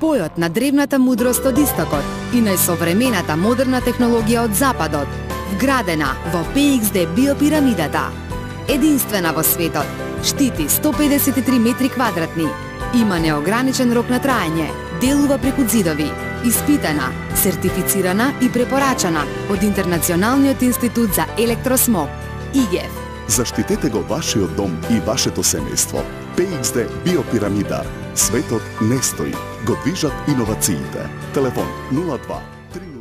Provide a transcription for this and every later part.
спојот на древната мудрост од истокот и најсовремената модерна технологија од западот, вградена во PXD биопирамидата. Единствена во светот, штити 153 метри квадратни, има неограничен рок на траење, делува преку ѕидови, испитана, сертифицирана и препорачана од Интернационалниот институт за електросмог, ИГЕФ. Заштитете го вашиот дом и вашето семејство. PXD биопирамида. Светот не стои, го движат иновациите. Телефон 02 30.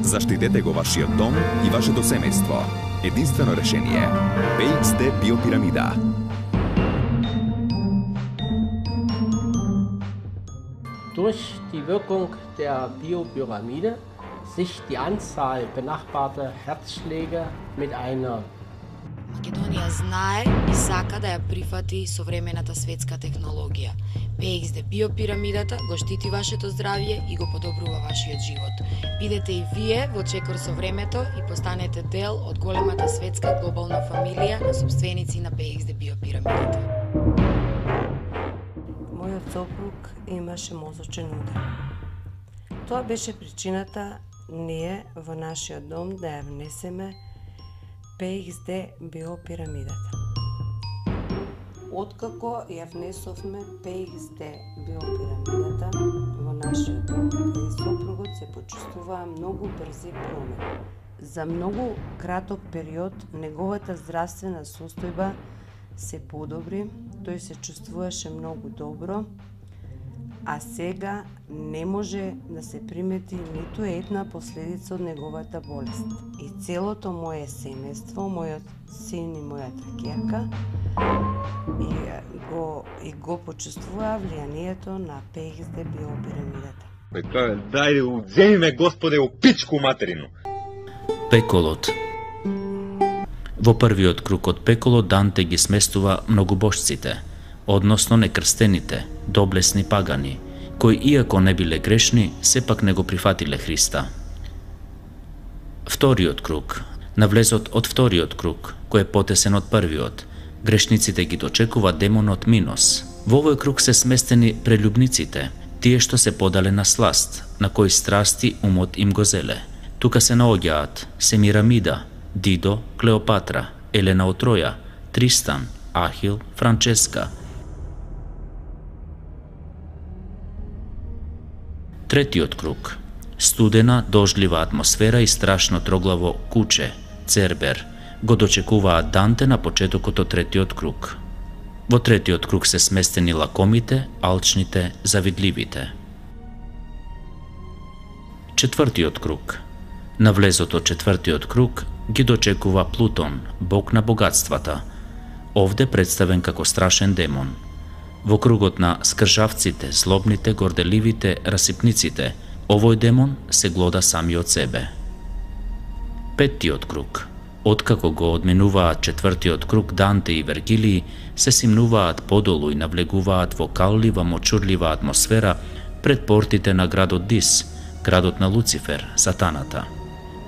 Заштитете го вашиот дом и вашето семејство. Единствено решение. PXD биопирамида. Durch die Wirkung der Biopyramide sich die Anzahl benachbarter Herzschläge mit einer Македонија знае и сака да ја прифати современата светска технологија. PXD биопирамидата го штити вашето здравје и го подобрува вашиот живот. Бидете и вие во чекор со времето и постанете дел од големата светска глобална фамилија на собственици на PXD биопирамидата. Мојот сопруг имаше мозочен удар. Тоа беше причината ние во нашиот дом да ја внесеме PXD биопирамидата. Откако ја внесовме PXD биопирамидата во нашиот дом, и сопругот се почувствуваа многу брзи промени. За многу краток период неговата здравствена состојба се подобри, тој се чувствуваше многу добро, а сега не може да се примети ниту една последица од неговата болест. И целото мое семејство, мојот син и мојата ќерка, го почувствуваа влијанието на PXD биопирамидата. Дајде, уземи ме, Господе, у пичку материну! Пеколот. Во првиот круг од пеколот Данте ги сместува многобожците, односно некрстените, доблесни пагани, кои иако не биле грешни, сепак не го прифатиле Христа. Вториот круг. На влезот од вториот круг, кој е потесен од првиот, грешниците ги дочекува демонот Минос. Во овој круг се сместени прелюбниците, тие што се подале на сласт, на кои страсти умот им го зеле. Тука се наоѓаат Семирамида, Дидо, Клеопатра, Елена од Троја, Тристан, Ахил, Франческа. Третиот круг. Студена, дождлива атмосфера и страшно троглаво куче, Цербер, го дочекуваат Данте на почетокот од третиот круг. Во третиот круг се сместени лакомите, алчните, завидливите. Четвртиот круг. На влезот од четвртиот круг ги дочекува Плутон, бог на богатствата, овде представен како страшен демон. Во кругот на скржавците, злобните, горделивите, расипниците, овој демон се глода самиот себе. Петтиот круг. Откако го одминуваат четвртиот круг, Данте и Вергилии се симнуваат подолу и навлегуваат во каллива, мочурлива атмосфера пред портите на градот Дис, градот на Луцифер, сатаната.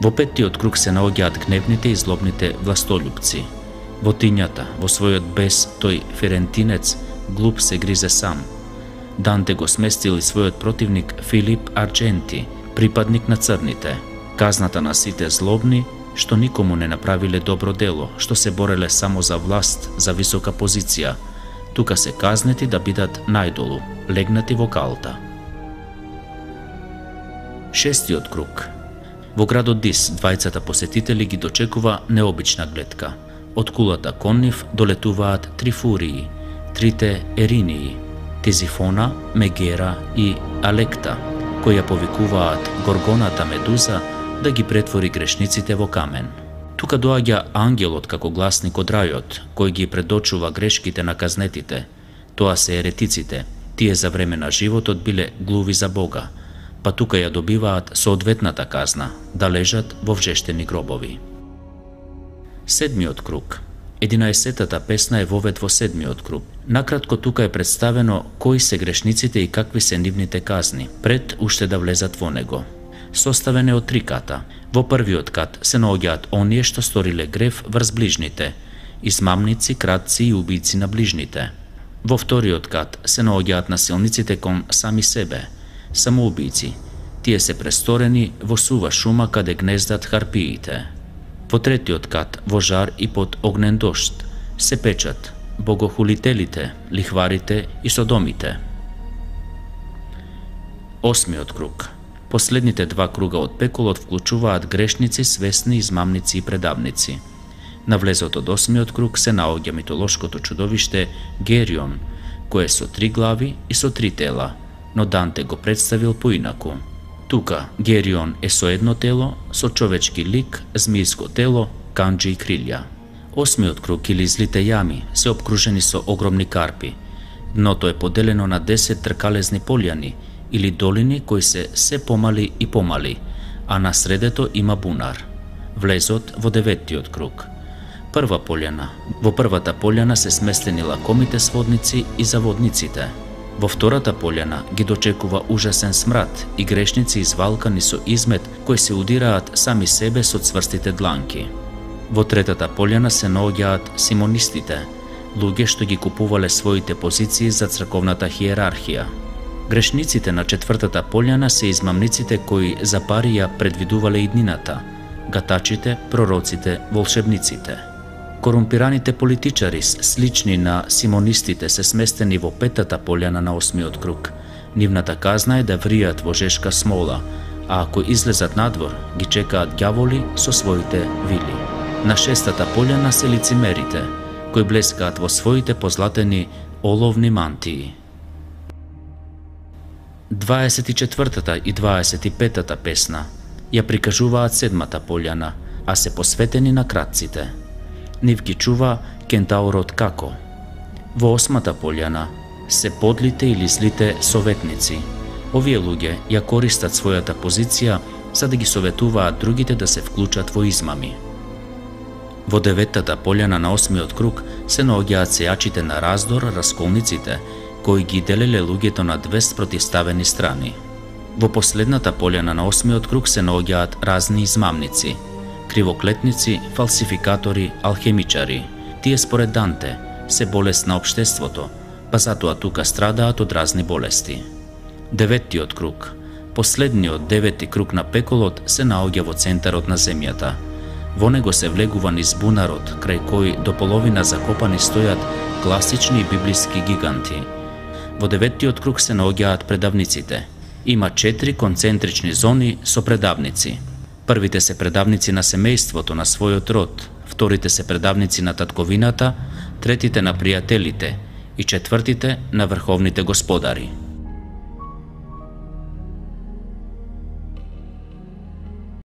Во петтиот круг се наоѓаат гневните и злобните властолюбци. Во тињата, во својот бес, тој ферентинец, глуп се гризе сам. Данте го сместил и својот противник Филип Ардженти, припадник на црните. Казната на сите злобни, што никому не направиле добро дело, што се бореле само за власт, за висока позиција. Тука се казнети да бидат најдолу, легнати во калта. Шестиот круг. Во градот Дис, двајцата посетители ги дочекува необична гледка. Од кулата кон нив долетуваат три фурии, трите Еринии, Тизифона, Мегера и Алекта, кои ја повикуваат Горгоната Медуза да ги претвори грешниците во камен. Тука доаѓа ангелот како гласник од рајот, кој ги предочува грешките на казнетите. Тоа се еретиците, тие за време на животот биле глуви за Бога, па тука ја добиваат соодветната казна, да лежат во вжештени гробови. Седмиот круг. 11-тата песна е вовед во седмиот круг. Накратко тука е представено кои се грешниците и какви се нивните казни, пред уште да влезат во него. составен е од 3 ката. Во првиот кат се наоѓаат оние што сториле грев врз ближните, измамници, кратци и убици на ближните. Во вториот кат се наоѓаат насилниците кон сами себе, самоубици. Тие се престорени во сува шума каде гнездат харпиите. Во третиот кат, во жар и под огнен дожд, се печат богохулителите, лихварите и содомите. Осмиот круг. Последните 2 круга од пеколот вклучуваат грешници, свесни, измамници и предавници. На влезот од 8-миот круг се наоѓа митолошкото чудовиште Герион, кое е со 3 глави и со 3 тела, но Данте го представил поинаку. Тука Герион е со едно тело, со човечки лик, змијско тело, канџи и крилја. 8-миот круг или злите јами се обкружени со огромни карпи. Дното е поделено на 10 тркалезни полјани или долини кои се помали и помали, а на средето има бунар. Влезот во 9-тиот круг. Прва полјана. Во првата полјана се сместени лакомите сводници и заводниците. Во втората полјана ги дочекува ужасен смрад и грешници извалкани со измет кои се удираат сами себе со цврстите дланки. Во третата полјана се наоѓаат симонистите, луѓе што ги купувале своите позиции за црковната хиерархија. Грешниците на четвртата полјана се измамниците кои за пари ја предвидувале иднината, гатачите, пророците, волшебниците. Корумпираните политичари, слични на симонистите, се сместени во 5-та полјана на 8-миот круг. Нивната казна е да вријат во жешка смола, а ако излезат надвор, ги чекаат ѓаволи со своите вили. На 6-та полјана се лицемерите, кои блескаат во своите позлатени оловни мантии. 24-та и 25-та песна ја прикажуваат 7-та полјана, а се посветени на кратците. Нив ги чува кентаурот Како. Во 8-та полјана се подлите или злите советници. Овие луѓе ја користат својата позиција за да ги советуваат другите да се вклучат во измами. Во 9-та полјана на 8-миот круг се наоѓаат сејачите на раздор, расколниците, кои ги делеле луѓето на 2 спротивставени страни. Во последната полјана на 8-миот круг се наоѓаат разни измамници, кривоклетници, фалсификатори, алхемичари. Тие според Данте се болест на општеството, па затоа тука страдаат од разни болести. 9-тиот круг. Последниот 9-ти круг на пеколот се наоѓа во центарот на земјата. Во него се влегува низ бунарот, крај кој до половина закопани стојат класични библиски гиганти. Во 9-тиот круг се наоѓаат предавниците. Има 4 концентрични зони со предавници. Првите се предавници на семејството, на својот род, вторите се предавници на татковината, третите на пријателите и четвртите на врховните господари.